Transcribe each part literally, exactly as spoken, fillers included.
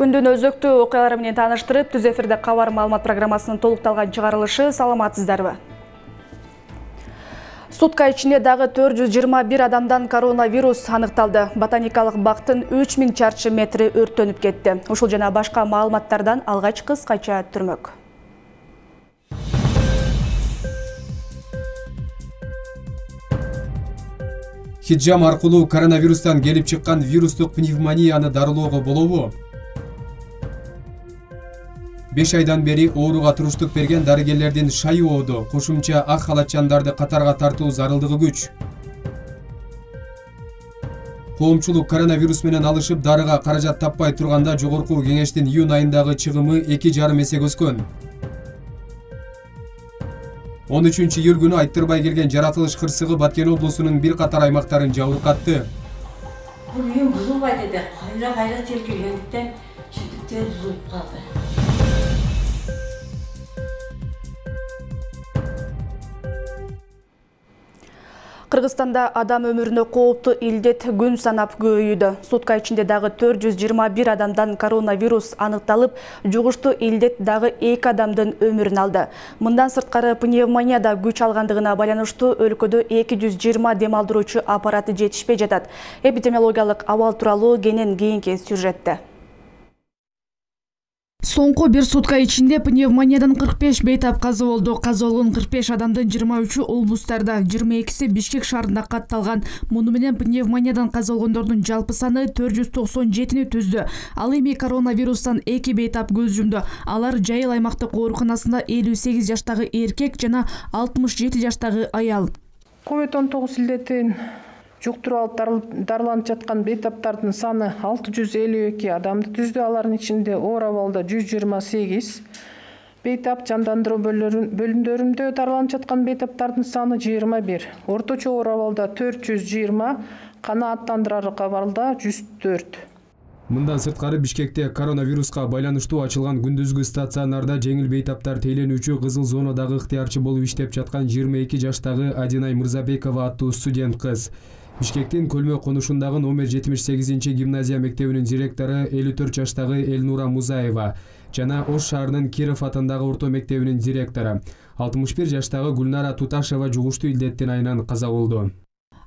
Күндүн өзөктүү окуялары менен тааныштырып, түз эфирде кабар маалымат программасынын толукталган чыгарылышы. Саламатсыздарбы? Сутка ичинде дагы төрт жүз жыйырма бир адамдан коронавирус аныкталды. Ботаникалык бактын үч миң чарчы метри өрттөнүп кетти. Ушул жана башка маалыматтардан алгач кыскача түрмөк. Хиджам аркылуу коронавирустан келип чыккан вирустук пневмонияны дарылоого болобу? беш айдан бери ооруга туруштук берген дарыгерлердин шайыоодо кошумча ак халатчандарды катарга тартуу зарылдыгы күч. Коомчулук коронавирус менен алышып дарыга каражат таппай турганда жогорку кеңештин июнь айындагы чыгымы эки жарым эсеге өскөн. он үчүнчү июль күнү айттырбай келген жаратылыш кырсыгы Баткен облусунун бир катар аймактарын жабыркатты. Бул үйүм бузулбайт эди. Кайра кайра тергелгендиктен чиртиктер бузулуп калды. Кыргызстанда адам өмүрүнө кооптуу илдет күн санап көбөйүүдө. Сутка ичинде дагы төрт жүз жыйырма бир адамдан коронавирус аныкталып, жугуштуу илдет дагы эки адамдын өмүрүн алды. Мындан сырткары пневмонияда күч алгандыгына байланыштуу өлкөдө эки жүз жыйырма дем алдыруучу аппараты жетишпей жатат. Эпидемиологиялык абал тууралуу кенен кийинки сюжетте. Соңку бир сутка ичинде пневмониядан кырк беш бейтап каза болду. Каза болгон кырк беш адамдын жыйырма үчү облустарда, жыйырма экиси Бишкек шаарында катталган. Муну менен пневмониядан каза болгондордун жалпы саны төрт жүз токсон жетини түздү. Ал эми коронавирустан эки бейтап көз жумду. Алар Жайыл аймактык ооруканасында элүү сегиз жаштагы эркек жана алтымыш жети жаштагы аял. ковид он тогуз илдетин жуктуруп алып дарыланып жаткан бейтаптардын саны алты жүз элүү эки адамды түздү. Алардын ичинде оор абалда жүз жыйырма сегиз бейтап, жандандыруу бөлүмдөрүндө дарыланып жаткан бейтаптардын саны жыйырма бир. Орточо оор абалда төрт жүз жыйырма, канааттандырарлык абалда жүз төрт. Мындан сырткары Бишкекте коронавируска байланыштуу ачылган күндүзгү стационарда жеңил бейтаптар тейлөнүүчү кызыл зонадагы ыктыярчы болуп иштеп жаткан жыйырма эки жаштагы Адинай Мырзабекова аттуу студент кыз. Бишкектин Көлмө конушундагы номер жетимиш сегизинчи гимназия мектебинин директору элүү төрт жаштагы Элнура Музаева жана Ош шаарынын Киров атындагы орто мектебинин директору алтымыш бир жаштагы Гүлнара Туташева жугуштуу илдеттин айынан каза болду.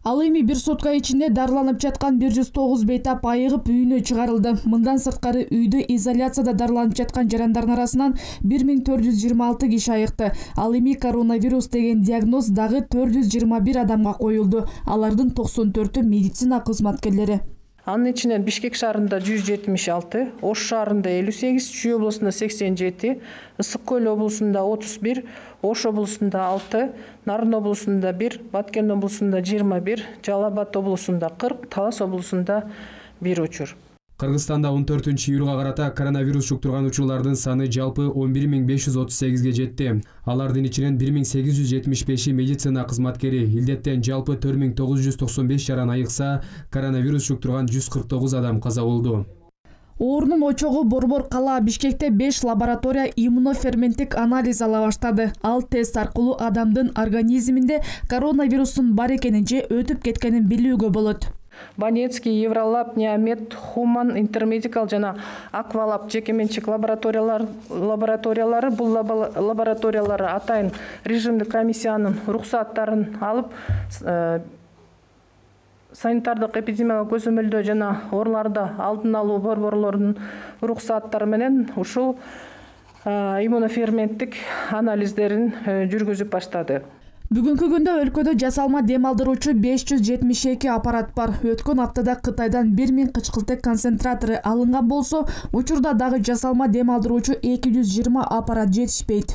Ал эми бир сутка ичинде дарыланып жаткан бир жүз тогуз бейтап айыгып үйүнө чыгарылды. Мындан сырткары үйдө изоляцияда дарыланып жаткан жарандардын арасынан бир миң төрт жүз жыйырма алты киши айыкты. Ал эми коронавирус деген диагноз дагы төрт жүз жыйырма бир адамга коюлду. Алардын токсон төртү медицина кызматкерлери. Анын ичинен Бишкек шаарында жүз жетимиш алты, Ош шаарында элүү сегиз, Чүй облусунда сексен жети, Ысык Көл облусунда отуз бир, Ош облусунда алты, Нарын облусунда бир, Баткен облусунда жыйырма бир, Жалал Абад облусунда кырк, Талас облусунда бир учур. Кыргызстанда он төртүнчү июлга карата коронавирус жуктурган учурлардын саны жалпы он бир миң беш жүз отуз сегизге жетти. Алардын ичинен бир миң сегиз жүз жетимиш беши медицина кызматкери, илдеттен жалпы төрт миң тогуз жүз токсон беш жаран айыкса, коронавирус жуктурган жүз кырк тогуз адам каза болду. Оорунун очогу Борбор кала Бишкекте беш лаборатория иммуноферменттик анализ ала баштады. Ал тест аркылуу адамдын организминде коронавирустун бар экенин же өтүп кеткенин билүүгө болот. Банецкий, Евролаб, Неомед, Хуман, Интермедикал жана Аквалаб жекеменчик лабораториялар лабораториялары бул лабораториялары атайын режимдик комиссиянын уруксаттарын алып, санитардык эпидемиялык көзөмөлдөө жана ооруларды алдын алуу борборлорунун уруксаттары менен ушул иммуноферменттик анализдерин жүргүзүп баштады. Бүгүнкү күндө өлкөдө жасалма дем алдыруучу беш жүз жетимиш эки аппарат бар. Өткөн аптада Кытайдан бир миң кычкылтек концентратору алынган болсо, учурда дагы жасалма дем алдыруучу эки жүз жыйырма аппарат жетишпейт.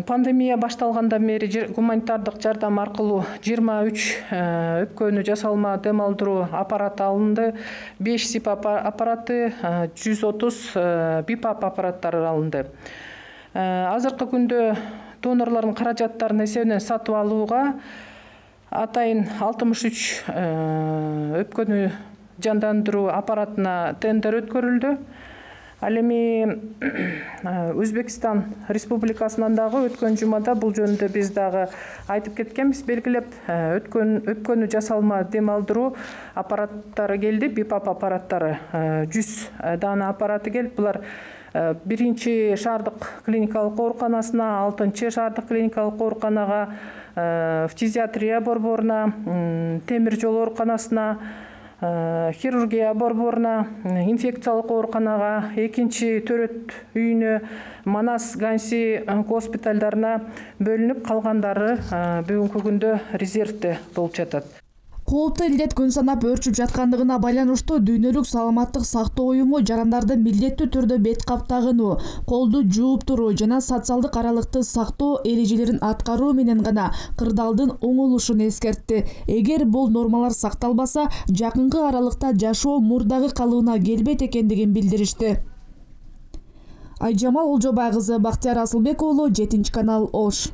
Пандемия башталгандан бери гуманитардык жардам аркылуу жыйырма үч өпкөнү жасалма дем алдыруу аппараты алынды, беш сип аппараты, жүз отуз бипап аппараттары алынды. Азыркы күндө донорлордун каражаттарынын эсебинен сатып алууга атайын алтымыш үч өпкөнү жандандыруу аппаратына тендер өткөрүлдү. Ал эми Өзбекстан Республикасынан дагы өткөн жумада бул жөнүндө биз дагы айтып кеткенбиз, белгилеп өткөн өпкөнү жасалма дем алдыруу аппараттары келди, бипап аппараттары жүз дана аппараты келип, булар биринчи шаардык клиникалык ооруканасына, алтынчы шаардык клиникалык ооруканага, фтизиатрия борборуна, темир жол ооруканасына, хирургия борборуна, инфекциялык ооруканага, экинчи төрөт үйүнө, Манас Ганси госпиталдарына бөлүнүп, калгандары бүгүнкү күндө резервде болуп жатат. Кооптуу илдет күн санап өрчүп жаткандыгына байланыштуу Дүйнөлүк саламаттык сактоо уюму жарандарды милдеттүү түрдө бет кап тагынуу, колду жууп туруу жана социалдык аралыкты сактоо эрежелерин аткаруу менен гана кырдаалдын оңолушун эскертти. Эгер бул нормалар сакталбаса, жакынкы аралыкта жашоо мурдагы калыбына келбейт экендигин билдиришти. Айжамал Олжобай кызы, Бактияр Асылбек уулу, жетинчи канал, Ош.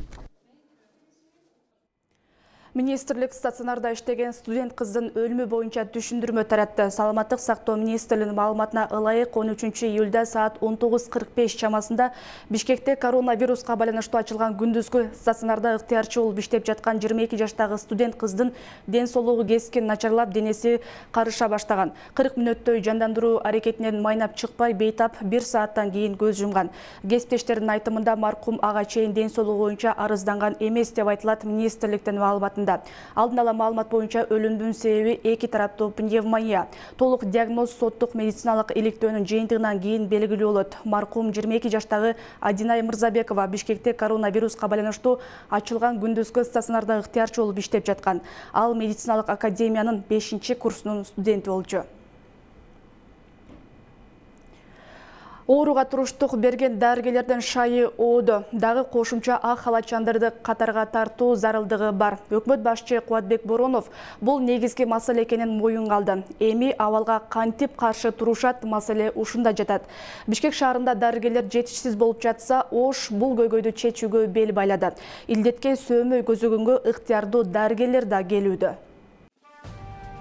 Министрлик стационарда иштеген студент кыздын өлүмү боюнча түшүндүрмө таратты. Саламаттык сактоо министрлигинин маалыматына ылайык он үчүнчү июлда саат он тогуз кырк беш чамасында Бишкекте коронавируска байланыштуу ачылган күндүзгү стационарда ыктыярчы болуп иштеп жаткан жыйырма эки жаштагы студент кыздын ден соолугу кескин начарлап, денеси карыша баштаган. кырк мүнөттөй жандандыруу аракетинен майнап чыкпай, бейтап бир сааттан кийин көз жумган. Кесиптештердин айтымында маркум ага чейин ден соолугу боюнча арызданган эмес деп айтылат министрликтин маалыматында. Алдын ала маалымат боюнча өлүмдүн себеби эки тараптуу пневмония. Толук диагноз соттук медициналык иликтөөнүн жыйынтыгынан кийин белгилүү болот. Маркум жыйырма эки жаштагы Адинай Мырзабекова Бишкекте коронавируска байланыштуу ачылган күндүзгү стационарда ыктыярчы болуп иштеп жаткан. Ал медициналык академиянын бешинчи курсунун студенти болчу. Ооруга туруштук берген дарыгерлердин шайы ооду. Дагы кошумча ак халатчандарды катарга тартуу зарылдыгы бар. Өкмөт башчы Кубатбек Боронов бул негизги маселе экенин моюнга алды. Эми абалга кантип каршы турушат, маселе ушунда жатат. Бишкек шаарында дарыгерлер жетишсиз болуп жатса, Ош бул көйгөйдү чечүүгө бел байлады. Илдетке сөөмөй көзөгөнгө ыктыярдуу дарыгерлер да келүүдө.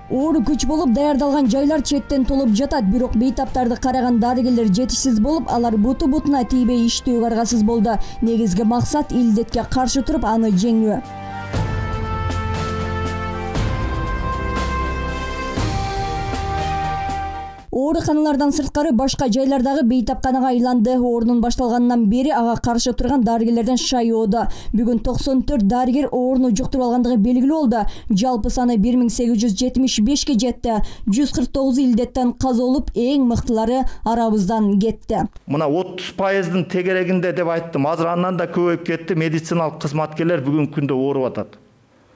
Оору күч болуп даярдалган жайлар четтен толуп жатат, бирок бейтаптарды караган дарыгерлер жетишсиз болуп, алар буту бутуна тийбей иштөөгө аргасыз болду. Негизги максат илдетке каршы туруп, аны жеңүү. Ооруканалардан сырткары башка жайлардагы бейтапканага айланды. Оорунун башталганынан бери ага каршы турган дарыгерлерден шай ооду. Бүгүн токсон төрт дарыгер ооруну жуктуруп алгандыгы белгилүү болду. Жалпы саны бир миң сегиз жүз жетимиш бешке жетти. жүз кырк тогузу илдеттен каза болуп, эң мыктылары арабыздан кетти. Мына отуз пайыздын тегерегинде деп айттым. Азыр андан да көбөйүп кетти. Медициналык кызматкерлер бүгүнкү күндө ооруп атат.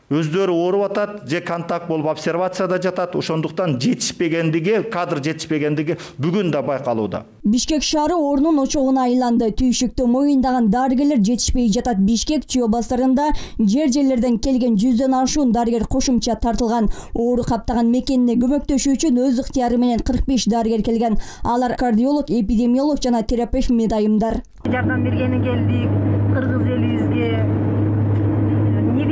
Өздөрү ооруп атат, же контакт болуп обсервацияда жатат. Ошондуктан жетишпегендиги, кадр жетишпегендиги бүгүн да байкалууда. Бишкек шаары оорунун очогуна айланды. Түйшүктү моюндаган дарыгерлер жетишпей жатат. Бишкек, Чүй областарында жер жерлерден келген жүздөн ашуун дарыгер кошумча тартылган. Оору каптаган мекенине көмөктөшүү үчүн өз ыктыяры менен кырк беш дарыгер келген. Алар кардиолог, эпидемиолог жана терапевт медайымдар. Жардам бергени келдик, кыргыз элибизге.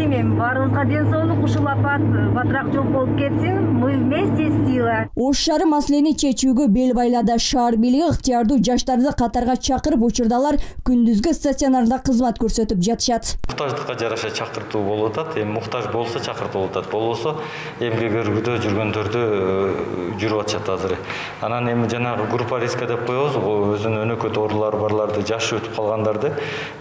Баарыбызга ден соолук, ушул апат батыраак жок болуп кетсин. Мы вместе сила. Ош шаары маселени чечүүгө бел байлады. Шаар бийлиги ыктыярдуу жаштарды катарга чакырып, учурдалар күндүзгү стационарда кызмат көрсөтүп жатышат. Муктаждыкка жараша чакыртуу болуп атат. Эми муктаж болсо чакыртып атат. Болбосо эмгек өргүдө жүргөндөрдү жүрүп атышат азыр. Анан эми жанагы группа риска деп коебуз. Өзүнүн өнөкөт оорулары барларды, жашы өтүп калгандарды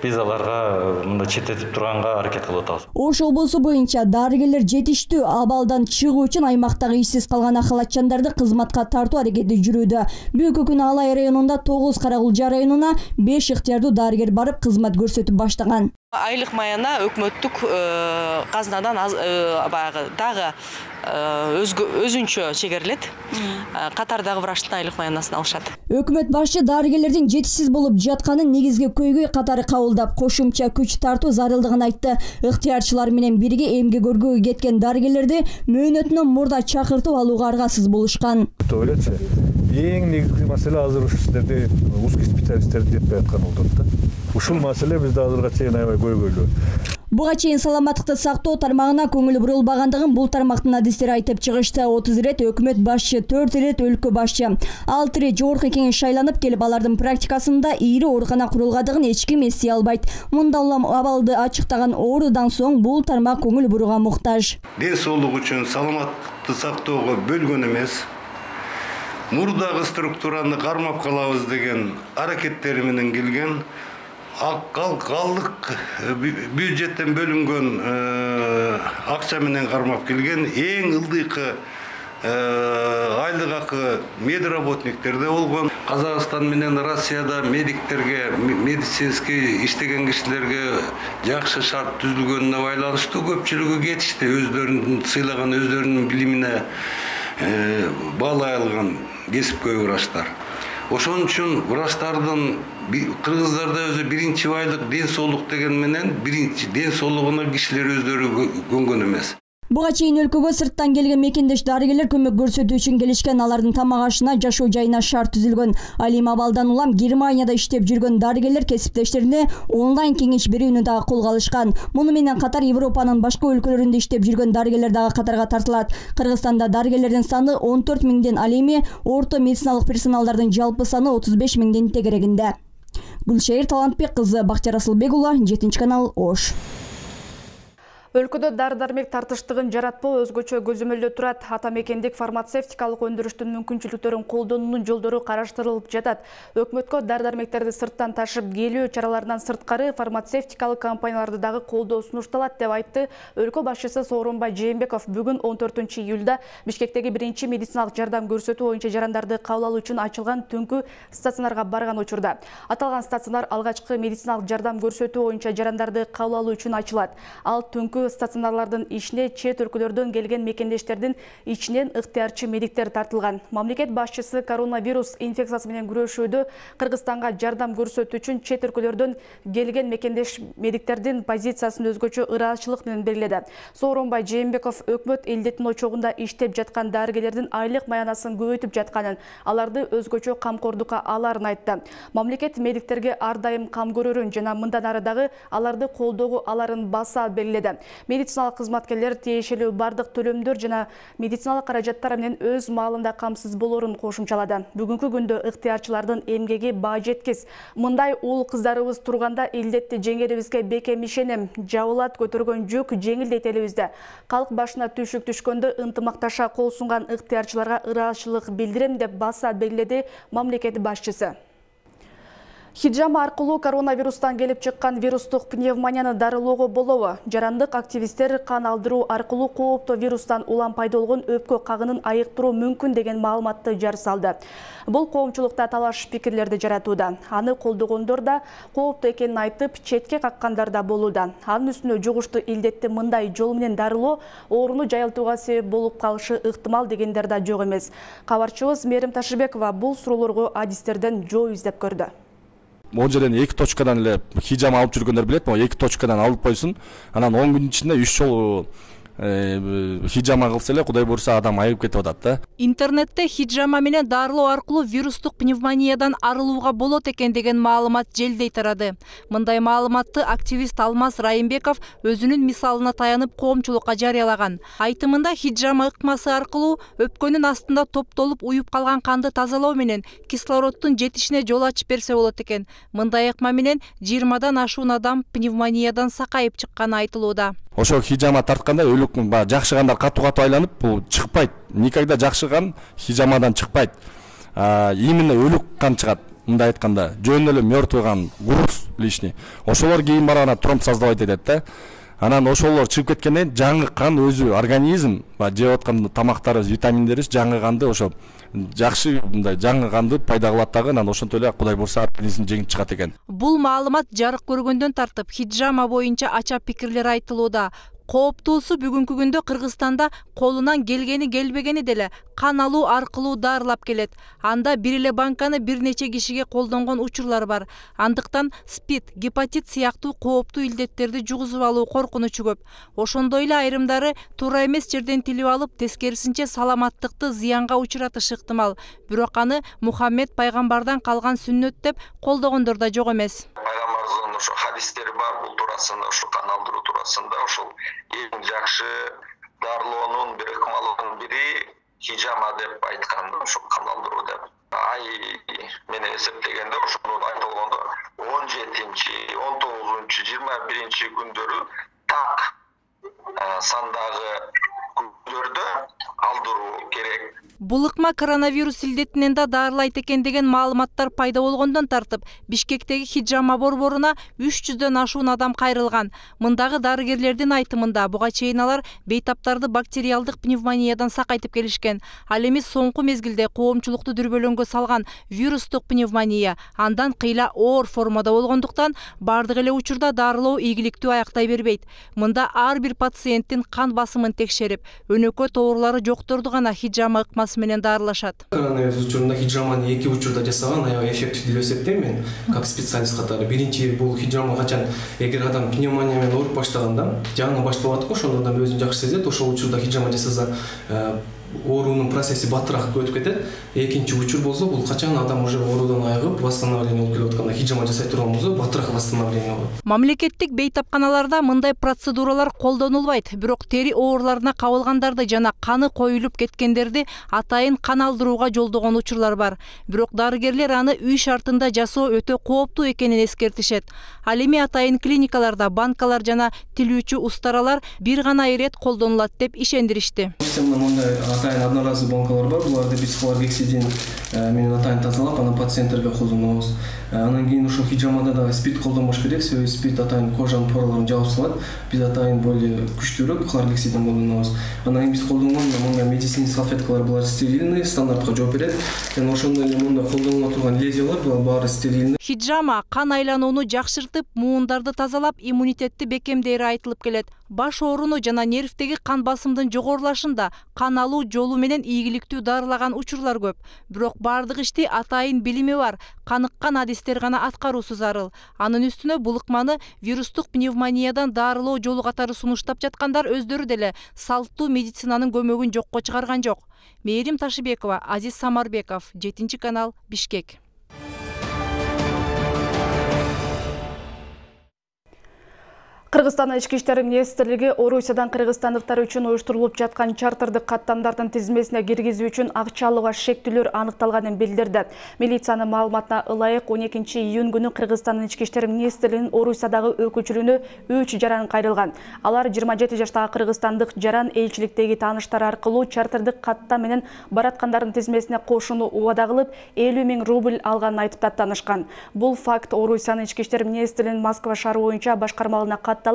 биз аларга мындай четтетип турганга аракет кылып атабыз. Ош облусу боюнча дарыгерлер жетиштүү. Абалдан чыгуу үчүн аймактагы ишсиз калган халатчандарды кызматка тартуу аракети жүрүүдө. Бүгүнкү күнү Алай районунда тогуз, Каракулжа районуна беш ыктыярдуу дарыгер барып кызмат көрсөтүп баштаган. Айлык маяна өкмөттүк казнадан баягы дагы өзүнчө чегерилет. Катардагы врачтын айлык маянасын алышат. Өкмөт башчы дарыгерлердин жетишсиз болуп жатканын негизги көйгөй катары кабылдап, кошумча күч тартуу зарылдыгын айтты. Ыктыярчылар менен бирге эмгек өргөгө кеткен дарыгерлерди мөөнөтүнөн мурда чакыртып алууга аргасыз болушкан. Эң негизги маселе азыр ушу сиздерде узкий специалисттерди жетпей аткан болот да. Ушул маселе бизде азырга чейин аябай көйгөйлүү. Буга чейин саламаттыкты сактоо тармагына көңүл бурулбагандыгын бул тармактын адистери айтып чыгышты. отуз ирет өкмөт башчы, төрт ирет өлкө башчы, алты ирет жогорку кеңеш шайланып келип, алардын практикасында ири оорукана курулгандыгын эч ким эстей албайт. Мында улам абалды ачыктаган оорудан соң бул тармак көңүл бурууга муктаж. Ден соолук үчүн саламаттыкты сактоого бөлгөн эмес, мурдагы структураны кармап калабыз деген аракеттери менен келген, калдык бюджеттен бөлүнгөн акча менен кармап келген эң ылдыйкы айлык акы медработниктерде болгон. Казакстан менен Россияда медиктерге, медицинский иштеген кишилерге жакшы шарт түзүлгөнүнө байланыштуу көпчүлүгү кетишти, өздөрүнүн сыйлаган, өздөрүнүн билимине баалай алган кесипкөй врачтар. Ошон үчүн врачтардын кыргыздарда өзү биринчи байлык ден соолук деген менен биринчи ден соолугуна кишилер өздөрү көнгөн эмес. Буга чейин өлкөгө сырттан келген мекендеш дарыгерлер көмөк көрсөтүү үчүн келишкен, алардын тамак ашына, жашоо жайына шарт түзүлгөн. Ал эми абалдан улам Германияда иштеп жүргөн дарыгерлер кесиптештерине онлайн кеңеш берүүнү дагы колго алышкан. Муну менен катар Европанын башка өлкөлөрүндө иштеп жүргөн дарыгерлер дагы катарга тартылат. Кыргызстанда дарыгерлердин саны он төрт миңден, ал эми орто медициналык персоналдардын жалпы саны отуз беш миңдин тегерегинде. Гүлшайыр Талантбек кызы, Бактияр Асылбек уулу, жетинчи канал, Ош. Өлкөдө дары-дармек тартыштыгын жаратпоо өзгөчө көзөмөлдө турат. Ата мекендик фармацевтикалык өндүрүштүн мүмкүнчүлүктөрүн колдонуунун жолдору караштырылып жатат. Өкмөткө дары-дармектерди сырттан ташып келүү чараларынан сырткары фармацевтикалык компанияларды дагы колдоо сунушталат деп айтты өлкө башчысы Сооронбай Жээнбеков бүгүн он төртүнчү июлда Бишкектеги биринчи медициналык жардам көрсөтүү боюнча жарандарды кабыл алуу үчүн ачылган түнкү стационарга барган учурда. Аталган стационар алгачкы медициналык жардам көрсөтүү боюнча жарандарды кабыл алуу үчүн ачылат. Ал түнкү стационарлардын ишине чет өлкөлөрдөн келген мекендештердин ичинен ыктыярчы медиктер тартылган. Мамлекет башчысы коронавирус инфекциясы менен күрөшүүдө Кыргызстанга жардам көрсөтүү үчүн чет өлкөлөрдөн келген мекендеш медиктердин позициясын өзгөчө ыраазычылык менен белгиледи. Сооронбай Жээнбеков өкмөт илдеттин очогунда иштеп жаткан дарыгерлердин айлык маянасын көбөйтүп жатканын, аларды өзгөчө камкордукка аларын айтты. Мамлекет медиктерге ар дайым кам көрөрүн жана мындан ары дагы аларды колдоого аларын баса белгиледи. Медициналык кызматкерлер тиешелүү бардык төлөмдөр жана медициналык каражаттар менен өз маалында камсыз болорун кошумчалады. Бүгүнкү күндө ыктыярчылардын эмгеги баа жеткис. Мындай уул кыздарыбыз турганда илдетти жеңерибизге бекем ишенем. Жабылат көтөргөн жүк жеңил дейт элибизде. Калк башына түшүк түшкөндө ынтымакташа кол сунган ыктыярчыларга ыраазычылык билдирем деп баса белгиледи мамлекет башчысы. Хиджама аркылуу коронавирустан келип чыккан вирустук пневмонияны дарылоого болобу? Жарандык активисттер кан алдыруу аркылуу кооптуу вирустан улам пайда болгон өпкө кагынын айыктыруу мүмкүн деген маалыматты жар салды. Бул коомчулукта талаш пикирлерди жаратууда. Аны колдогондор да кооптуу экенин айтып, четке каккандар да болууда. Анын үстүнө жугуштуу илдетти мындай жол менен дарылоо ооруну жайылтууга себеп болуп калышы ыктымал дегендер да жок эмес. Кабарчыбыз Мерим Ташыбекова бул суроолорго адистерден жооп издеп көрдү. Могу жерден эки точкадан эле хижама алып жүргөндөр билет, могу эки точкадан алып койсун. Анан он күн ичинде үч жолу хижама кылса эле Кудай буйрса адам айыгып кетип атат да. Интернетте хижама менен дарылоо аркылуу вирустук пневмониядан арылууга болот экен деген маалымат желдей тарады. Мындай маалыматты активист Алмаз Райымбеков өзүнүн мисалына таянып коомчулукка жарыялаган. Айтымында хижама ыкмасы аркылуу өпкөнүн астында топтолуп уюп калган канды тазалоо менен кислороддун жетишине жол ачып берсе болот экен. Мындай ыкма менен жыйырмадан ашуун адам пневмониядан сакайып чыкканы айтылууда. Ошо хижама тартканда өлүк жакшыгандар катуу-катуу айланып, бул чыкпайт. Никогда жакшыган хижамадан чыкпайт. Именно өлүк кан чыгат. Мындай айтканда, жөн эле мёртвый кан, груз лишний. Ошолор кийин барганда тромб создавать этет да. Анан ошолор чыгып кеткенден жаңы кан өзү организм, жеп аткан тамактарыбыз, витаминдерибиз жаңы канды ошо жакшы мындай жаңы канды пайда кылат дагы, анан ошентип эле Кудай буйрса организм жеңип чыгат экен. Бул маалымат жарык көргөндөн тартып хижама боюнча ача пикирлер айтылууда. Кооптуусу бүгүнкү күндө Кыргызстанда колунан келгени келбегени деле кан алуу аркылуу дарылап келет. Анда бир эле банканы бир нече кишиге колдонгон учурлар бар. Андыктан спид, гепатит сыяктуу кооптуу илдеттерди жугузуп алуу коркунучу көп. Ошондой эле айрымдары туура эмес жерден тилип алып, тескерисинче саламаттыкты зыянга учуратышы ыктымал. Бирок аны Мухаммед пайгамбардан калган сүннөт деп колдогондор да жок эмес. пайгамбарыбыздын ошо хадистери бар бул туурасында, ошо кан алдыруу туурасында. Ошол эң жакшы дарылоонун бир ыкмалынын бири хижама деп айткан, ошо кан алдыруу деп. Ай менен эсептегенде ошону айтылгондо он жетинчи, он тогузунчу, жыйырма биринчи күндөрү так сандагы күндөрдө алдыруу керек. Бул ыкма коронавирус илдетинен да дарылайт экен деген маалыматтар пайда болгондон тартып, Бишкектеги хижама борборуна үч жүздөн ашуун адам кайрылган. Мындагы дарыгерлердин айтымында буга чейин алар бейтаптарды бактериалдык пневмониядан сакайтып келишкен. Ал эми соңку мезгилде коомчулукту дүрбөлөңгө салган вирустук пневмония андан кыйла оор формада болгондуктан бардык эле учурда дарылоо ийгиликтүү аяктай бербейт. Мында ар бир пациенттин кан басымын текшерип, өнөкөт оорулары жокторду гана хижама ыкмасы менен дарылашат. Коронавирус учурунда хижаманы эки учурда жасаган аябай эффективдүү деп эсептейм мен, как специалист катары. Биринчи бул хижама качан эгер адам пневмония менен ооруп баштаганда, жаңы башталып аткан, ошондо адам өзүн жакшы сезет, ошол учурда хижама жасаса оорунун процесси баттыраак өтүп кетет. Экинчи учур болсо, бул качан адам уже оорудан айыгып, восстановление болуп келип атканда хижама жасай турган болсо, баттыраак восстановление болот. Мамлекеттик бейтапканаларда мындай процедуралар колдонулбайт, бирок тери ооруларына кабылгандарды жана каны коюлуп кеткендерди атайын кан алдырууга жолдогон учурлар бар. Бирок дарыгерлер аны үй шартында жасоо өтө кооптуу экенин эскертишет. Ал эми атайын клиникаларда банкалар жана тилүүчү устаралар бир гана ирет колдонулат деп ишендиришти. Атайын одноразовый банкалар бар, буларды биз хлоргексидин менен атайын тазалап, анан пациенттерге колдонобуз. Анан кийин ушул хижамада да спирт колдонбош керек, себеби спирт атайын кожанын пораларын жаап салат. Биз атайын более күчтүүрөөк хлоргексидин колдонобуз. Анан кийин биз колдонгон мындай медицинский салфеткалар булар стерильный, стандартка жооп берет. Жана ошондой эле мындай колдонула турган лезвиялар булар баары стерильный. Хижама кан айланууну жакшыртып, муундарды тазалап, иммунитетти бекемдери айтылып келет. Баш ооруну жана нервдеги кан басымдын жогорулашында кан алуу жолу менен ийгиликтүү дарылаган учурлар көп. Бирок бардык ишти атайын билими бар, каныккан адистер гана аткаруусу зарыл. Анын үстүнө бул ыкманы вирустук пневмониядан дарылоо жолу катары сунуштап жаткандар өздөрү деле салттуу медицинанын көмөгүн жокко чыгарган жок. Мээрим Ташыбекова, Азиз Самарбеков, жетинчи канал, Бишкек. Кыргызстан ички иштер министрлиги Орусиядан кыргызстандыктар үчүн уюштурулуп жаткан чартырдык каттамдардын тизмесине киргизүү үчүн акча алууга шектүүлөр аныкталганын билдирди. Милициянын маалыматына ылайык он экинчи июнь күнү Кыргызстандын ички иштер министрлигинин Орусиядагы өкүлчүлүгүнө үч жаран кайрылган. Алар жыйырма жети жаштагы кыргызстандык жаран элчиликтеги тааныштары аркылуу чартырдык каттам менен бараткандардын тизмесине кошууну убада кылып, элүү миң рубль алганын айтып даттанышкан. Бул факт Орусиянын ички иштер министрлигинин Москва шаары боюнча башкармалыгына катталып,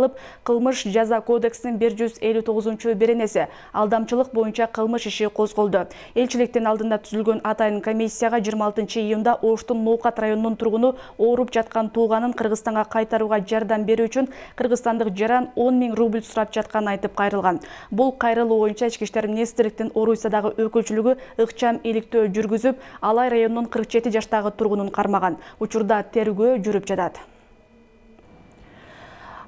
кылмыш жаза кодексинин бир жүз элүү тогузунчу беренеси алдамчылык боюнча кылмыш иши козголду. Элчиликтин алдында түзүлгөн атайын комиссияга жыйырма алтынчы июнда Оштун Ноокат районунун тургуну ооруп жаткан тууганын Кыргызстанга кайтарууга жардам берүү үчүн кыргызстандык жаран он миң рубль сурап жатканын айтып кайрылган. Бул кайрылуу боюнча ички иштер министрликтин Орусиядагы өкүлчүлүгү ыкчам иликтөө жүргүзүп, Алай районунун кырк жети жаштагы тургунун кармаган. Учурда тергөө жүрүп жатат.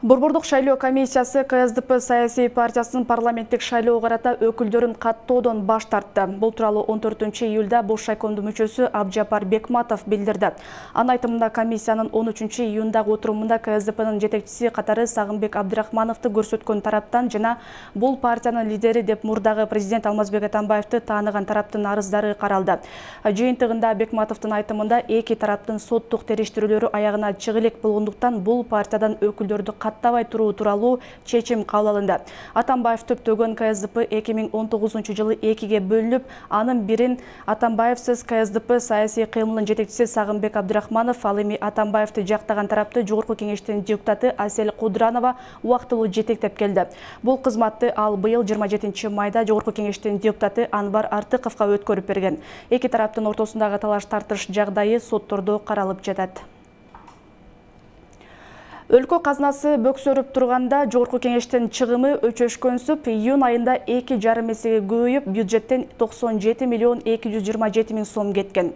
Борбордук шайлоо комиссиясы К С Д П саясий партиясынын парламенттик шайлоо карата өкүлдөрүн каттоодон баш тартты. Бул тууралуу он төртүнчү июлда Бош шайкомдун мүчөсү Абжапар Бекматов билдирди. Анын айтымында комиссиянын он үчүнчү июндагы отурумунда К С Д П'нын жетекчиси катары Сагынбек Абдрахмановду көрсөткөн тараптан жана бул партиянын лидери деп мурдагы президент Алмазбек Атамбаевди тааныган тараптын арыздары каралды. Жыйынтыгында Бекматовдун айтымында эки тараптын соттук териштирүүлөрү аягына чыга элек болгондуктан бул партиядан өкүлдөрдү каттабай туруу тууралуу чечим кабыл алынды. Атамбаев төптөгөн К С Д П эки миң он тогузунчу жылы экиге бөлүнүп, анын бирин Атамбаевсиз К С Д П саясий кыймылынын жетекчиси Сагынбек Абдрахманов, ал эми Атамбаевди жактаган тарапты Жогорку кеңештин депутаты Асель Кудранова убактылуу жетектеп келди. Бул кызматты ал быйыл жыйырма жетинчи майда Жогорку кеңештин депутаты Анвар Артыковго өткөрүп берген. Эки тараптын ортосундагы талаш тартыш жагдайы соттордо каралып жатат. Өлкө казнасы бөксөрүп турганда Жогорку кеңештин чыгымы өчөшкөнсүп, июнь айында эки жарым эсеге көбөйүп, бюджеттен токсон жети миллион эки жүз жыйырма жети миң сом кеткен.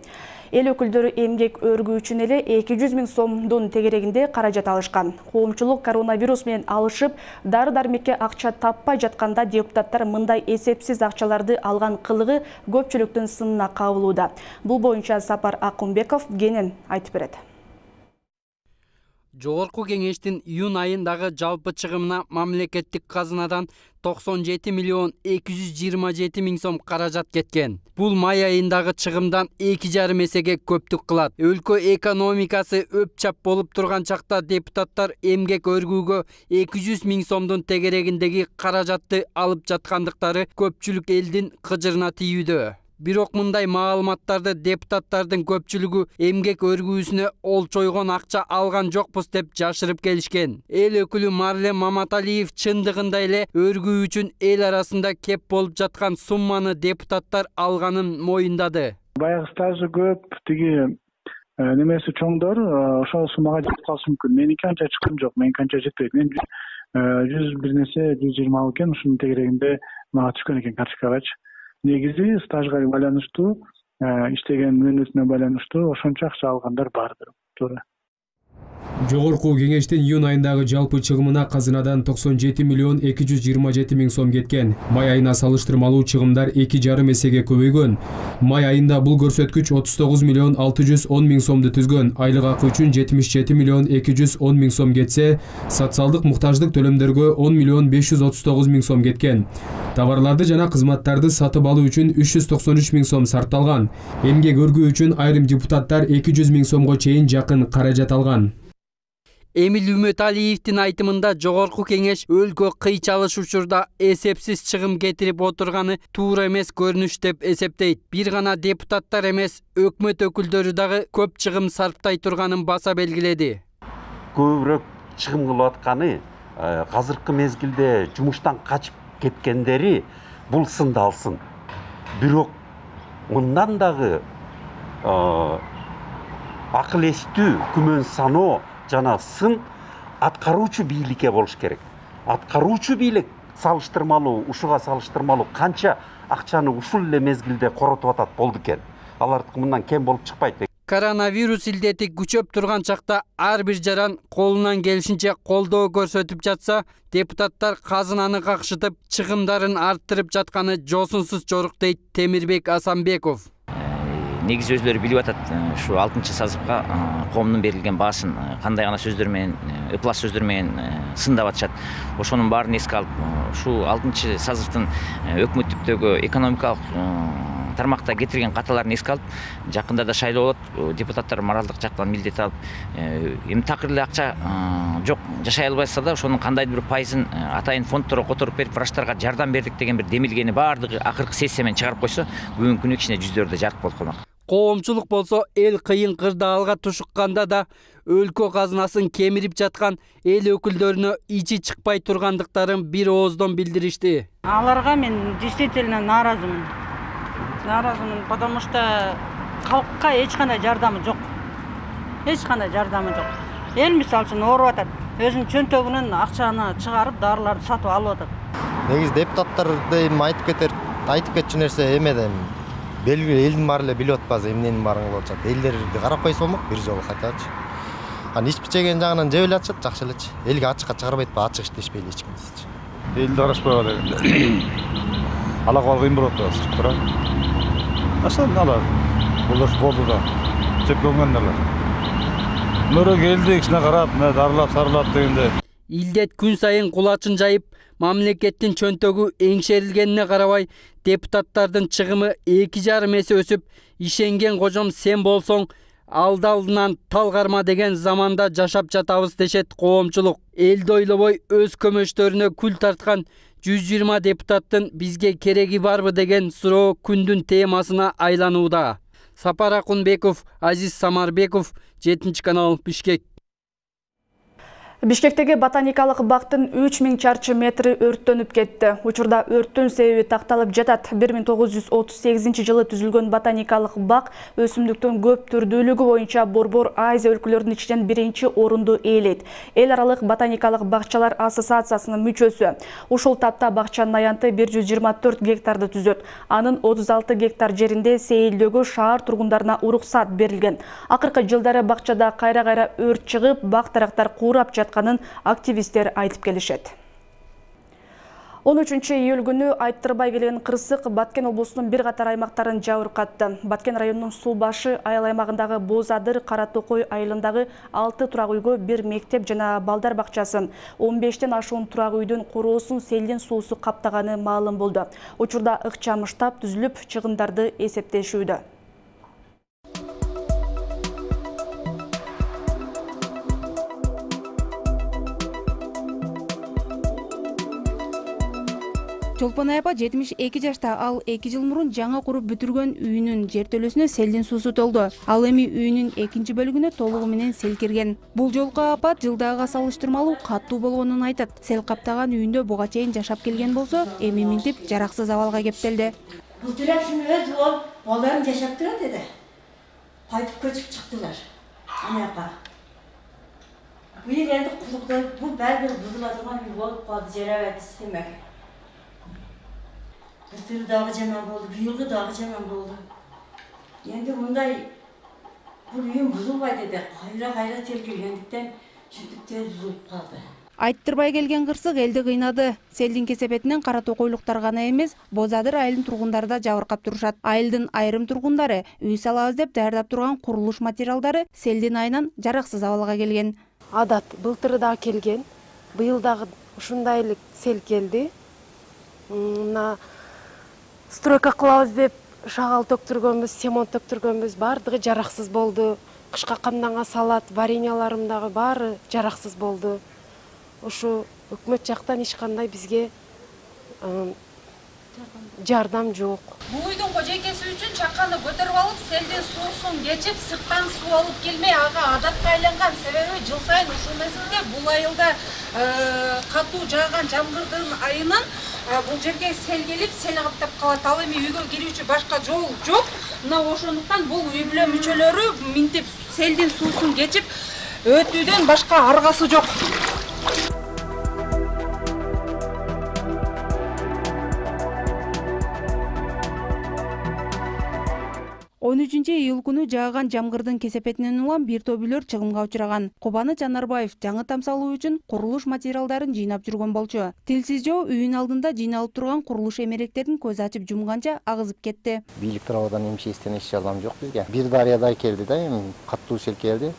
Эл өкүлдөрү эмгек өргүү үчүн эле эки жүз миң сомдун тегерегинде каражат алышкан. Коомчулук коронавирус менен алышып, дары-дармекке акча таппай жатканда депутаттар мындай эсепсиз акчаларды алган кылыгы көпчүлүктүн сынына кабылууда. Бул боюнча Сапар Акунбеков кенен айтып берет. Жогорку кеңештин июнь айындагы жалпы чыгымына мамлекеттик казынадан токсон жети миллион эки жүз жыйырма жети миң сом каражат кеткен. Бул май айындагы чыгымдан эки жарым эсеге көптүк кылат. Өлкө экономикасы өпчап болуп турган чакта депутаттар эмгек өргүүгө эки жүз миң сомдун тегерегиндеги каражатты алып жаткандыктары көпчүлүк элдин кыжырына тийүүдө. Бирок мындай маалыматтарды депутаттардын көпчүлүгү эмгек өргүүсүнө олчойгон акча алган жокпуз деп жашырып келишкен. Эл өкүлү Марлен Маматалиев чындыгында эле өргүү үчүн эл арасында кеп болуп жаткан сумманы депутаттар алганын моюндады. Баягы стажы көп, тиги немеси чоңдор ошол суммага жетип калышы мүмкүн. Меники анча чыккан жок, меники анча жетпейт. Мен жүз бир нерсе жүз жыйырма экен, ушунун тегерегинде мага түшкөн экен карточкагачы. Негизи стажга байланыштуу, иштеген мөөнөтүнө байланыштуу ошончо акча алгандар бардыр. Туура. Жогорку кеңештин июнь айындагы жалпы чыгымына казынадан токсон жети миллион эки жүз жыйырма жети миң сом кеткен. Май айына салыштырмалуу чыгымдар эки жарым эсеге көбөйгөн. Май айында бул көрсөткүч отуз тогуз миллион алты жүз он миң сомду түзгөн. Айлык акы үчүн жетимиш жети миллион эки жүз он миң сом кетсе, социалдык муктаждык төлөмдөргө он миллион беш жүз отуз тогуз миң сом кеткен. Товарларды жана кызматтарды сатып алуу үчүн үч жүз токсон үч миң сом сарпталган. Эмгек өргүү үчүн айрым депутаттар эки жүз миң сомго чейин жакын каражат алган. Эмил Үмөталиевдин айтымында жогорку кеңеш өлкө кыйчалыш учурда эсепсиз чыгым кетирип отурганы туура эмес көрүнүш деп эсептейт. Бир гана депутаттар эмес, өкмөт өкүлдөрү дагы көп чыгым сарптай турганын баса белгиледи. Көбүрөөк чыгым кылып атканы азыркы мезгилде жумуштан качып кеткендери бул сынды алсын. Бирок мындан дагы акыл эстүү, күмөн саноо жана сын аткаруучу бийликке болуш керек. Аткаруучу бийлик салыштырмалуу, ушуга салыштырмалуу канча акчаны ушул эле мезгилде коротуп атат болду экен. Алардыкы мындан кем болуп чыкпайт. Коронавирус илдети күчөп турган чакта ар бир жаран колунан келишинче колдоо көрсөтүп жатса, депутаттар казынаны какшытып, чыгымдарын арттырып жатканы жосунсуз жорук дейт Темирбек Асанбеков. Негизи өздөрү билип атат, ушу алтынчы сазыпка коомдун берилген баасын кандай гана сөздөр менен, ыплас сөздөр менен сындап атышат. Ошонун баарын эске алып, ушу алтынчы сазыптын өкмөттүктөгү экономикалык тармакта кетирген каталарын эске алып, жакында да шайлоо болот, депутаттар моралдык жактан милдет алып, эми такыр эле акча жок, жашай албайса да, ошонун кандайдыр бир пайызын атайын фондторго которуп берип, врачтарга жардам бердик деген бир демилгени баардыгы акыркы сессия менен чыгарып койсо, бүгүнкү күнү кичине жүздөрдө жарык болуп калмак. Коомчулук болсо эл кыйын кырдаалга тушукканда да өлкө казынасын кемирип жаткан эл өкүлдөрүнө ичи чыкпай тургандыктарын бир ооздон билдиришти. Аларга мен действительно нааразымын. Нааразымын, потому что калкка эч кандай жардамы жок. Эч кандай жардамы жок. Эл мисалы үчүн ооруп атат. Өзүнүн чөнтөгүнөн акчаны чыгарып, дарыларды сатып алып атат. Негизи депутаттарды эми айтып кетер, айтып кетчү нерсе эмеден белгилүү элдин баары эле билип атпайбы эмненин баарын кылып атышат. Элдерди карап койсо болмок бир жолу кайтачы. Анан ичип жеген жагынан жеп эле атышат, жакшы элечи. Элге ачыкка чыгарбайт, ачык иштешпейли эч кимсичи. Элди карашпайбы дегенде. Ала калган кыйын болуп атат, туура. Ашан ала. Булар болду да. Жеп көнгөн эле. Мөрөк элди кичине карап, мына дарылап, сарылап дегенде. Илдет күн сайын кулачын жайып, мамлекеттин чөнтөгү эңшерилгенине карабай, депутаттардын чыгымы эки жарым эсе өсүп, ишенген кожом сен болсоң, алды алдынан тал карма деген заманда жашап жатабыз дешет коомчулук. Элди ойлобой өз көмөчтөрүнө күл тарткан жүз жыйырма депутаттын бизге кереги барбы деген суроо күндүн темасына айланууда. Сапар Акунбеков, Азиз Самарбеков, жетинчи канал, Бишкек. Бишкектеги ботаникалык бактын үч миң чарчы метри өрттөнүп кетти. Учурда өрттүн себеби такталып жатат. бир миң тогуз жүз отуз сегизинчи жылы түзүлгөн ботаникалык бак өсүмдүктүн көп түрдүүлүгү боюнча Борбор Азия өлкөлөрүнүн ичинен биринчи орунду ээлейт. Эл аралык ботаникалык бакчалар ассоциациясынын мүчөсү. Ушул тапта бакчанын аянты бир жүз жыйырма төрт гектарды түзөт. Анын отуз алты гектар жеринде сейилдөөгө шаар тургундарына уруксат берилген. Акыркы жылдары бакчада кайра-кайра өрт чыгып, бак тарактар куурап жатканын активисттер айтып келишет. он үчүнчү июль күнү айттырбай келген кырсык Баткен облусунун бир катар аймактарын жабыркатты. Баткен районунун суу башы айыл аймагындагы Бозадыр, Кара Токой айылындагы алты турак үйгө бир мектеп жана балдар бакчасын, он бештен ашуун турак үйдүн короосун селдин суусу каптаганы маалым болду. Учурда ыкчам штаб түзүлүп, чыгымдарды эсептешүүдө. Чолпон апа жетимиш эки жашта, ал эки жыл мурун жаңы куруп бүтүргөн үйүнүн жертөлөсүнө селдин суусу толду. Ал эми үйүнүн экинчи бөлүгүнө толугу менен сел кирген. Бул жолку апат жылдагыга салыштырмалуу каттуу болгонун айтат. Сел каптаган үйүндө буга чейин жашап келген болсо, эми минтип жараксыз абалга кептелди. Бул төрөкчүнүн өзү болуп, балдарым жашап турат эди. Кайтып көчүп чыктылар. Анакка. Бул жерде кулукта бул баары бузула турган үй болуп калды, жарабайт демек. Былтыр дагы жаман болду, быйылгы дагы жаман болду. Эndi мындай бул үйүм бузулбайт эди. Кайра-кайра сел киргендиктен шүтүп тез бузулуп калды. Айттырбай келген кырсык элди кыйнады. Селдин кесепетинен Кара Токойлуктар гана эмес, Бозадыр айылынын тургундары да жабыркап турушат. Айылдын айрым тургундары үй салабыз деп даярдап турган курулуш материалдары селдин айынан жараксыз абалга келген. Адат былтыры дагы келген, быйыл дагы ушундай эле сел келди. Мына стройка кылабыз деп шагал төктүргөнбүз, семонт төктүргөнбүз, баардыгы жараксыз болду. Кышка камданга салат, вареньяларым дагы баары жараксыз болду. Ушу өкмөт жактан эч кандай бизге жардам жок. Бул үйдүн кожойкеси үчүн чаканы көтөрүп алып, селдин суусун кечип, сырттан суу алып келмей, ага адатка айланган. Себеби жыл сайын ушул мезгилде бул айылда катуу жааган жамгырдын айынан бул жерге сел келип, сел каптап калат. Ал эми үйгө кирүүчү башка жол жок. Мына ошондуктан бул үй бүлө мүчөлөрү минтип селдин суусун кечип өтүүдөн башка аргасы жок. он үчүнчү июль күнү жааган жамгырдын кесепетинен улам бир топ үйлөр чыгымга учураган. Кубаны Жанарбаев жаңы там салуу үчүн курулуш материалдарын жыйнап жүргөн болчу. Тилсиз жоо үйүн алдында жыйналып турган курулуш эмеректерин көз ачып жумганча агызып кетти. Бийлик тарабынан эмчестен эч жардам жок бизге. Бир дарыядай келди да, эми каттуу сел келди.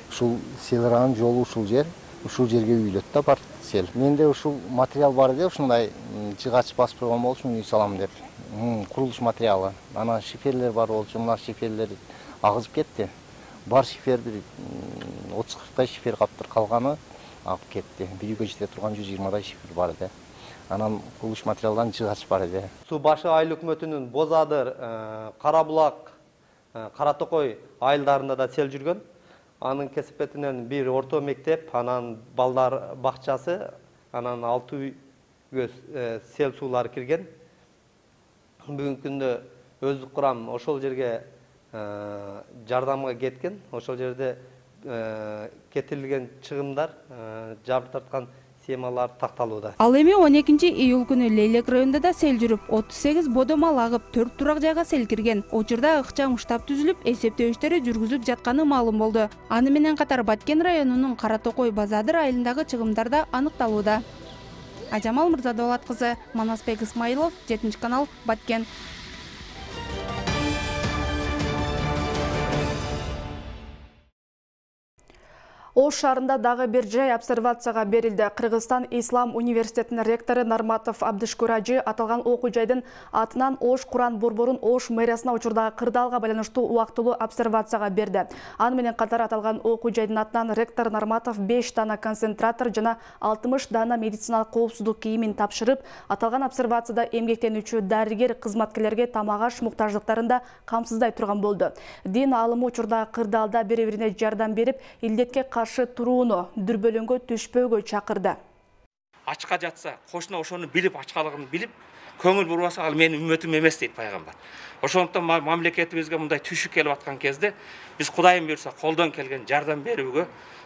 Ушул селранын жолу ушул жер, ушул жерге үйлөт да бар сел. Менде ушул материал бар эди, ушундай жыгач басып койгон болчумун үй салам деп. Курулуш материалы. Анан шиферлер бар болчу, мына шиферлер агызып кетти. Бар шиферди отуз кырктай шифер каптыр, калганы агып кетти. Bir үйгө жете турган жүз жыйырмадай шифер бар эди. Анан курулуш материалдан жыгач бар эди. Суу башы айыл өкмөтүнүн Бозадыр, Кара Булак, Кара Токой айылдарында да сел жүргөн. Анын кесепетинен бир орто мектеп, анан балдар бакчасы, анан алты үйгө сел суулары кирген. Бүгүнкү күндө өздүк курам ошол жерге жардамга кеткен. Ошол жерде кетирилген чыгымдар, жабыр тарткан схемалар такталууда. Ал эми он экинчи июль күнү Лейлек районунда да сел жүрүп, отуз сегиз бодомал агып, төрт турак жайга сел кирген. Учурда ыкчам штаб түзүлүп, эсептөө иштери жүргүзүлүп жатканы маалым болду. Аны менен катар Баткен районунун Кара Токой Бозадыр айылындагы чыгымдар да аныкталууда. Ажамал Мырзадолат кызы, Манасбек Исмаилов, жетинчи канал, Баткен. Ош шаарында дагы бир жай обсервацияга берилди. Кыргызстан Ислам университетинин ректору Нарматов Абдышкүр ажы аталган окуу жайдын атынан Ош Куран борборун Ош мэриясына учурдагы кырдаалга байланыштуу убактылуу обсервацияга берди. Аны менен катар аталган окуу жайдын атынан ректор Нарматов беш дана концентратор жана алтымыш дана медициналык коопсуздук кийимин тапшырып, аталган обсервацияда эмгектенүүчү дарыгер кызматкерлерге тамак аш муктаждыктарында камсыздай турган болду. Дин аалымы учурдагы кырдаалда бири-бирине жардам берип, илдетке турууну, дүрбөлөңгө түшпөөгө чакырды. Ачка жатса, кошуна ошону билип, ачкалыгын билип, көңүл бурбаса, ал менин үммөтүм эмес дейт пайгамбар. Ошондуктан мамлекетибизге мындай түшүк келип аткан кезде биз Кудайым буйрса колдон келген жардам берүүгө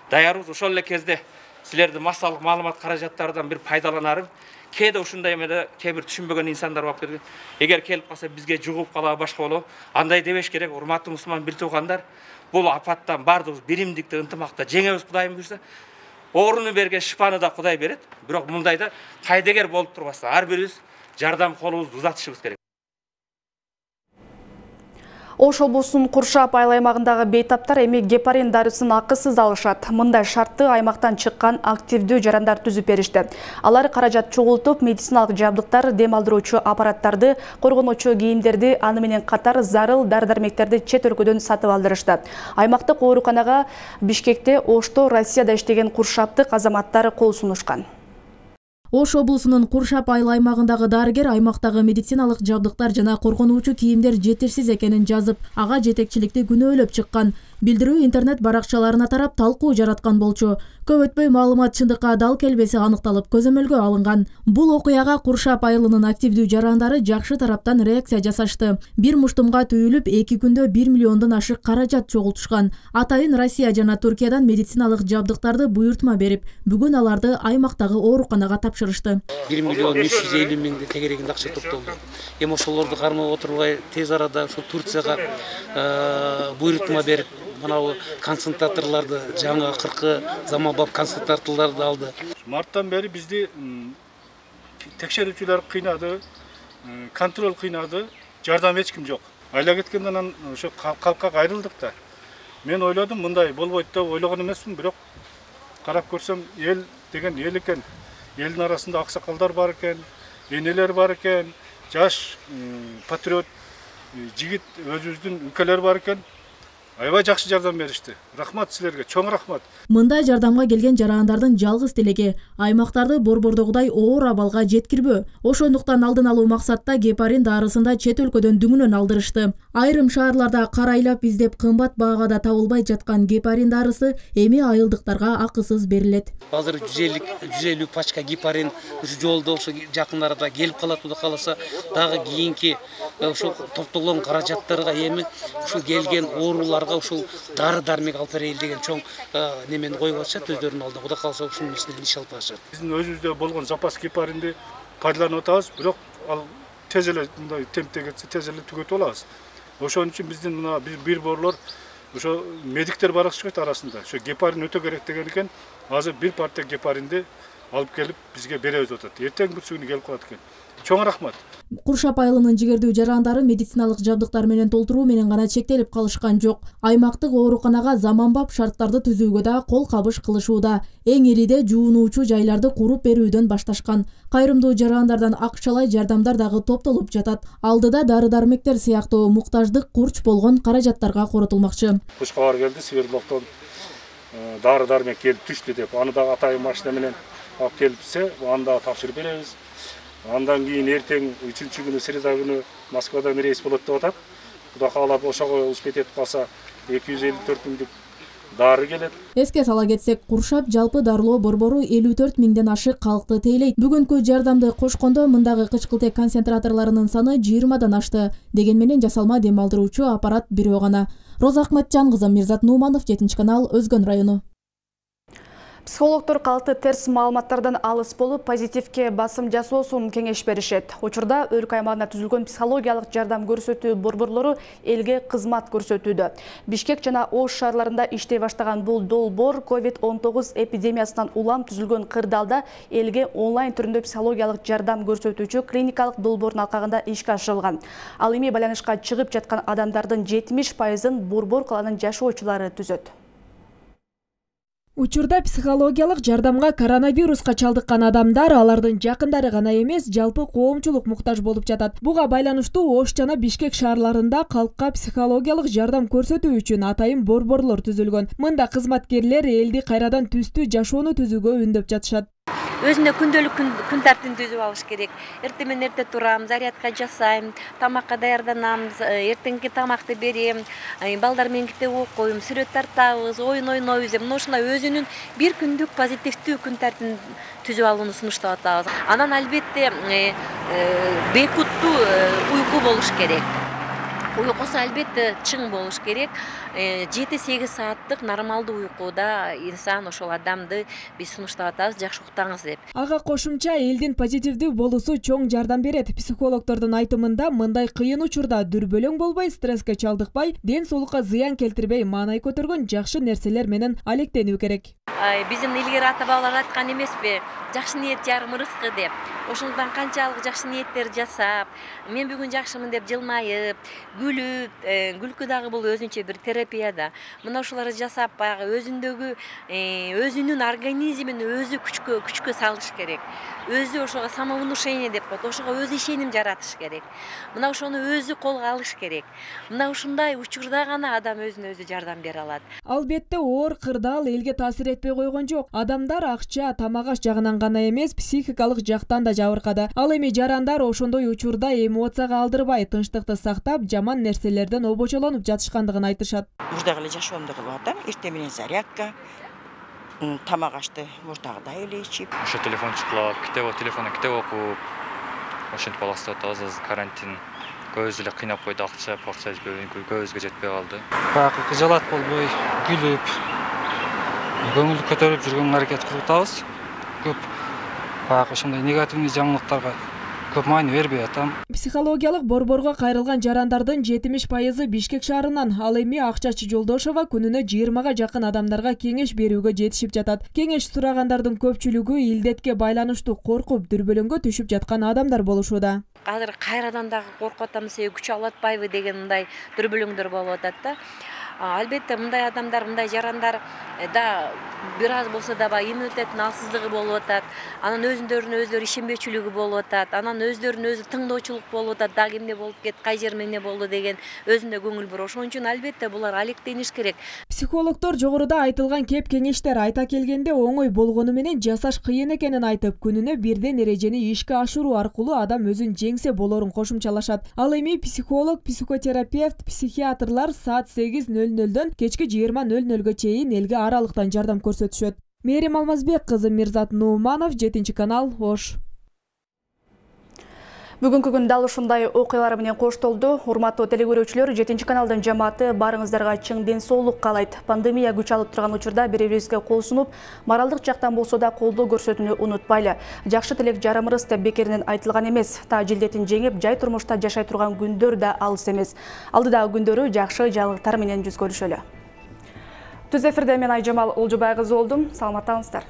даярбыз. Ошол эле кезде силердин массалык маалымат каражаттарынан бир пайдаланарым. Кээде ушундай эмеде кээ бир түшүнбөгөн инсандар болуп кеткен. Эгер келип калса бизге жугуп калабы башка болобу? Андай дебеш керек, урматтуу мусулман бир туугандар. Бул апаттан бардыгыбыз биримдикте, ынтымакта жеңебиз Кудайым буйрса. Ооруну берген шифаны да Кудай берет. Бирок мындайда кайдыгер болуп турбастан ар бирибиз жардам колубузду узатышыбыз керек. Ош облусунун Куршап айыл аймагындагы бейтаптар эми гепарин дарысын акысыз алышат. Мындай шартты аймактан чыккан активдүү жарандар түзүп беришти. Алар каражат чогултуп, медициналык жабдыктар, дем алдыруучу аппараттарды, коргонуучу кийимдерди, аны менен катар зарыл дары-дармектерди чет өлкөдөн сатып алдырышты. Аймактык ооруканага Бишкекте, Ошто, Россияда иштеген куршаптык азаматтар кол сунушкан. Ош облусунун Куршап айыл аймагындагы дарыгер аймактагы медициналык жабдыктар жана коргонуучу кийимдер жетишсиз экенин жазып, ага жетекчиликти күнөөлөп чыккан. Билдирүү интернет баракчаларына тарап талкуу жараткан болчу. Көп өтпөй маалымат чындыкка дал келбеси аныкталып, көзөмөлгө алынган. Бул окуяга Куршап айылынын активдүү жарандары жакшы тараптан реакция жасашты. Бир муштумга түйүлүп, эки күндө бир миллиондон ашык каражат чогултушкан. Атайын Россия жана Түркиядан медициналык жабдыктарды буйртма берип, бүгүн аларды аймактагы ооруканага тапшырышты. бир миллион үч жүз элүү миңди тегерегинде акча топтолду. Эми ошолорду кармап отурбай тез арада ошо Турцияга буйртма берип, манабу концентраторларды жаңы кыркы заманбап концентраторларды алды. Марттан бери бизди текшерүүчүлөр кыйнады, контроль кыйнады, жардам эч ким жок. Айла кеткенден анан ошо калкка кайрылдык да. Мен ойлодум мындай болбойт деп ойлогон эмесмин, бирок карап көрсөм эл деген эл экен. Элдин арасында аксакалдар бар экен, энелер бар экен, жаш патриот жигит өзүбүздүн өлкөлөр бар экен. Аябай жакшы жардам беришти. Рахмат силерге, чоң рахмат. Мындай жардамга келген жарандардын жалгыз тилеги аймактарды борбордогудай оор абалга жеткирбөө. Ошондуктан алдын алуу максатта гепарин дарысында чет өлкөдөн дүңүнөн алдырышты. Айрым шаарларда карайлап издеп кымбат баагада табылбай жаткан гепарин дарысы эми айылдыктарга акысыз берилет. Азыр жүз элүү пачка гепарин ушу жолдо ошо жакын арада келип калат, Кудай кааласа, дагы кийинки ошо топтолгон каражаттарга эми ушул келген ооруларга ушул дары-дармек алып берели деген чоң немени коюп атышат өздөрүнүн алдына. Кудай кааласа ушунун үстүнөн иш алып атышат. Биздин өзүбүздө болгон запас гепаринди пайдаланып атабыз, бирок ал тез эле мындай темпте кетсе тез эле түгөтүп алабыз. Ошон үчүн биздин мына бир борлор ошо медиктер бар чыгат арасында. Ошо гепарин өтө керек деген экен. Азыр бир партия гепаринди алып келип бизге беребиз деп атат. Эртең бүтсүгүнү келип калат экен. Чоң рахмат. Куршап айылынын жигердүү жарандары медициналык жабдыктар менен толтуруу менен гана чектелип калышкан жок. Аймактык ооруканага заманбап шарттарды түзүүгө да кол кабыш кылышууда. Эң элиде жуунуучу жайларды куруп берүүдөн башташкан. Кайрымдуу жарандардан акчалай жардамдар дагы топтолуп жатат. Алдыда дары-дармектер сыяктуу муктаждык курч болгон каражаттарга коротулмакчы. Куш кабар келди Свердловдон дары-дармек келип түштү деп, аны дагы атайын машина менен алып келипсе, аны дагы тапшырып беребиз. Андан кийин эртең үчүнчү күнү среда күнү Москвадан рейс болот деп атат. Кудай каалап ошого успеть этип калса эки жүз элүү төрт миңдик дары келет. Эске сала кетсек, Куршап жалпы дарылоо борбору элүү төрт миңден ашык калкты тейлейт. Бүгүнкү жардамды кошкондо мындагы кычкылтек концентраторлорунун саны жыйырмадан ашты. Деген менен жасалма дем алдыруучу аппарат бирөө гана. Роза Акматжан кызы, Мирзат Нуманов, жетинчи канал, Өзгөн району. Психологтор калкты терс маалыматтардан алыс болуп, позитивке басым жасоосун кеңеш беришет. Учурда өлкө аймагында түзүлгөн психологиялык жардам көрсөтүү борборлору элге кызмат көрсөтүүдө. Бишкек жана Ош шаарларында иштей баштаган бул долбоор ковид он тогуз эпидемиясынан улам түзүлгөн кырдаалда элге онлайн түрүндө психологиялык жардам көрсөтүүчү клиникалык долбоордун алкагында ишке ашырылган. Ал эми байланышка чыгып жаткан адамдардын жетимиш пайызын борбор каланын жашоочулары түзөт. Учурда психологиялык жардамга коронавируска чалдыккан адамдар алардын жакындары гана эмес, жалпы коомчулук муктаж болуп жатат. Буга байланыштуу Ош жана Бишкек шаарларында калкка психологиялык жардам көрсөтүү үчүн атайын борборлор түзүлгөн. Мында кызматкерлер элди кайрадан түстүү жашоону түзүүгө үндөп жатышат. Өзүнө күндөлүк күн тартибин түзүп алыш керек. Эртең менен эрте турам, зарядка жасайм, тамакка даярданам, эртеңки тамакты берем, балдар менен китеп окуйм, сүрөт тартабыз, оюн ойнойбуз деп, мына ушундай өзүнүн бир күндүк позитивдүү күн тартибин түзүп алууну сунуштап атабыз. Анан албетте бейкуттуу уйку болуш керек. Уйкусу албетте чың болуш керек. жети сегиз сааттык нормалдуу уйкуда инсан ошол адамды биз сунуштап атабыз, жакшы уктаңыз деп. Ага кошумча элдин позитивдүү болуусу чоң жардам берет. Психологдордун айтымында мындай кыйын учурда дүрбөлөң болбой, стресске чалдыкпай, ден соолукка зыян келтирбей маанай көтөргөн жакшы нерселер менен алектенүү керек. Биздин илгери ата бабалар айткан эмеспи, жакшы ниет жарым рызкы деп. Ошондон канчалык жакшы ниеттер жасап, мен бүгүн жакшымын деп жылмайып, күлүп, күлкү дагы бул өзүнчө бир терапия да. Мына ушуларды жасап баягы өзүндөгү өзүнүн организмин өзү күчкө күчкө салыш керек. Өзү ошого самовнушение деп коет, ошого өзү ишеним жаратыш керек. Мына ошону өзү колго алыш керек. Мына ушундай учурда гана адам өзүнө өзү жардам бере алат. Албетте оор кырдаал элге таасир этпей койгон жок. Адамдар акча, тамак-аш жагынан гана эмес, психикалык жактан да жабыркады. Ал эми жарандар ошондой учурда эмоцияга алдырбай, тынчтыкты сактап, жаман нерселерден обочолонуп жатышкандыгын айтышат. Мурдагы эле жашоомду кылып атам, эртең менен зарядка, тамак ашты мурдагыдай эле ичип. Ошо телефон чукулап, китеп, телефондон китеп окуп, ошентип аластап атабыз. Азыр карантин көбүбүз эле кыйнап койду, акча, акча көбүбүзгө жетпей калды. Баягы кыжалат болбой, күлүп, көңүл көтөрүп жүргөнгө аракет кылып атабыз. Көп баягы ошондой негативный жаңылыктарга көп маани бербей атам. Психологиялык борборго кайрылган жарандардын жетимиш пайызы Бишкек шаарынан. Ал эми Акчачы Жолдошова күнүнө жыйырмага жакын адамдарга кеңеш берүүгө жетишип жатат. Кеңеш сурагандардын көпчүлүгү илдетке байланыштуу коркуп, дүрбөлөңгө түшүп жаткан адамдар болушууда. Азыр кайрадан дагы коркуп атам, себеби күч алып атпайбы деген мындай дүрбөлөңдөр болуп атат да. Албетте мындай адамдар, мындай жарандар да бир аз болсо да баягы иммунитеттин алсыздыгы болуп атат. Анан өзүндөрүнө өздөрү ишенбечүлүгү болуп атат. Анан өздөрүнө өзү тыңдоочулук болуп атат. Дагы эмне болуп кетти, кай жериме эмне болду деген өзүндө көңүл буруп. Ошон үчүн албетте булар алектениш керек. Психологдор жогоруда айтылган кеп кеңештер айта келгенде оңой болгону менен жасаш кыйын экенин айтып, күнүнө бирден эрежени ишке ашыруу аркылуу адам өзүн жеңсе болорун кошумчалашат. Ал эми психолог, психотерапевт, психиатрлар саат сегиз нөл нөлдөн кечки жыйырма нөл нөлгө чейин элге аралыктан жардам көрсөтүшөт. Мээрим Алмазбек кызы, Мирзат Нууманов, жетинчи канал, Ош. Бүгүнкү күн дал ушундай окуялар менен коштолду. Урматтуу телекөрүүчүлөр, жетинчи каналдын жамааты барыңыздарга чың ден соолук каалайт. Пандемия күч алып турган учурда бири-бирибизге кол сунуп, моралдык жактан болсо да колдоо көрсөтүүнү унутпайлы. Жакшы тилек жарымырыз деп бекеринен айтылган эмес. Та жилдетин жеңип, жай турмушта жашай турган күндөр да алыс эмес. Алдыдагы күндөрү жакшы жаңылыктар менен жүз көрүшөлү. Түз эфирде мен Айжамал Олжобай кызы болдум. Саламаттаңыздар.